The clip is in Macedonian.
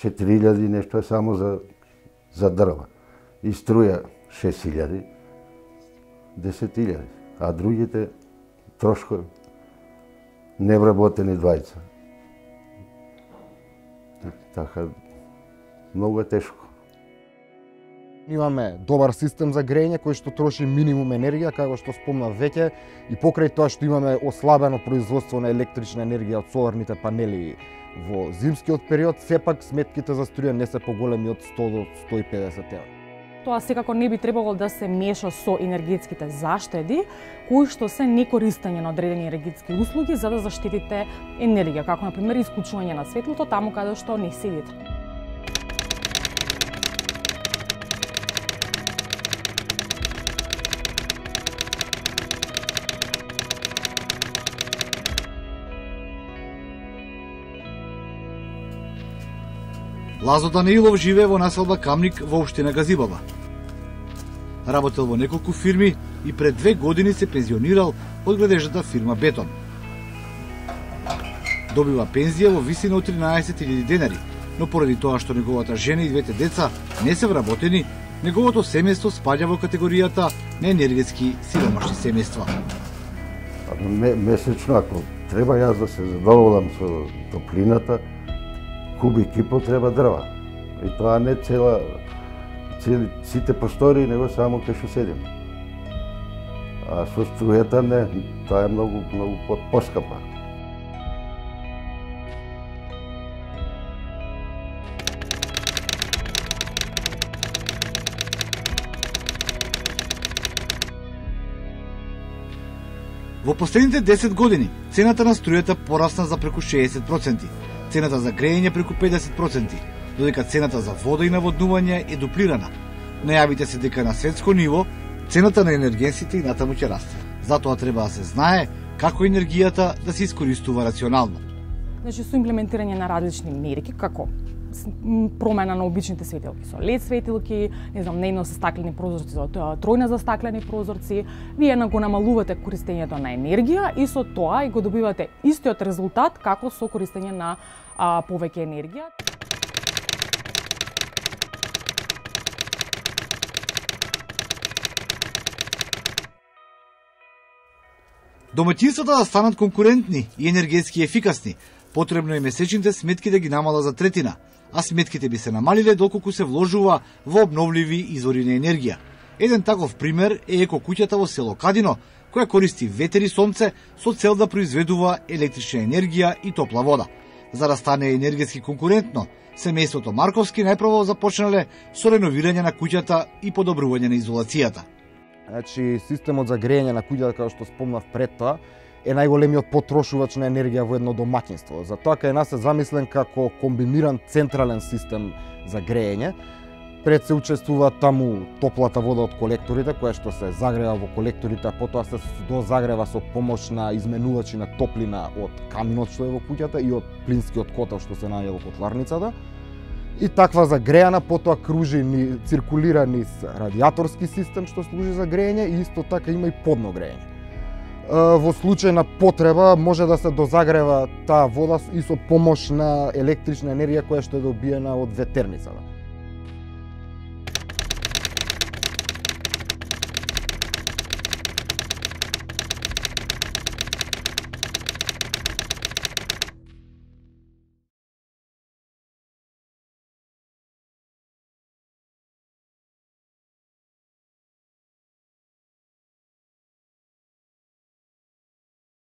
4000 нешто е само за дрва. И струја 6000, 10.000, а другите трошкови невработени двајца. Така, многу е тешко. Имаме добар систем за грејење кој што троши минимум енергија, како што спомнав веќе, и покрај тоа што имаме ослабено производство на електрична енергија од соларните панели во зимскиот период, сепак сметките за струја не се поголеми од 100 до 150 евра. Тоа секако не би требало да се меша со енергетските заштеди, кои што се некористење на одредени енергетски услуги за да заштитите енергија, како на пример исклучување на светлото таму каде што не седите. Лазо Данеилов живее во населба Камник во општина Газибаба. Работел во неколку фирми и пред 2 години се пензионирал од градежната фирма Бетон. Добива пензија во висина од 13.000 денари, но поради тоа што неговата жена и двете деца не се вработени, неговото семејство спаѓа во категоријата на енергетски сиромашни семејства. Месечно, ако треба јас да се задоволам со топлината, кубик и пол треба дрва. И тоа не сите простори, него само кај што седим. А со струјата не, тоа е многу поскапа. Во последните 10 години цената на струјата порасна за преку 60%, цената за грејење преку 50%, додека цената за вода и наводнување е дуплирана. Најавите се дека на светско ниво цената на енергенсите и натаму ќе расте. Затоа треба да се знае како енергијата да се искористува рационално. Значи, со имплементирање на различни мерки, како промена на обичните светилки со LED светилки, не знам, нејно со стаклени прозорци, со тројна застаклени прозорци, вие го намалувате користењето на енергија и со тоа и го добивате истиот резултат како со користење на повеќе енергија. Домаќинствата да станат конкурентни и енергетски ефикасни, потребно е месечните сметки да ги намала за третина, а сметките би се намалиле доколку се вложува во обновливи извори на енергија. Еден таков пример е екокуќата во село Кадино, која користи ветер и сонце со цел да произведува електрична енергија и топла вода. За да стане енергетски конкурентно, семејството Марковски најпрво започнале со реновирање на куќата и подобрување на изолацијата. Значи, системот за грејење на куќата, како што спомнав пред тоа, е најголемиот потрошувач на енергија во едно домаќинство. Затоа кај нас е замислен како комбиниран централен систем за грејење. Пред се учествува таму топлата вода од колекторите, која што се загрева во колекторите, а потоа се дозагрева со помош на изменувачи на топлина од каминот што е во куќата и од плинскиот котел што се наоѓа во котларницата. И таква загрејана потоа кружи циркулира низ радиаторски систем што служи за грејење и исто така има и подно грејење. Во случај на потреба може да се дозагрева таа вода и со помош на електрична енергија која што е добиена од ветерницата.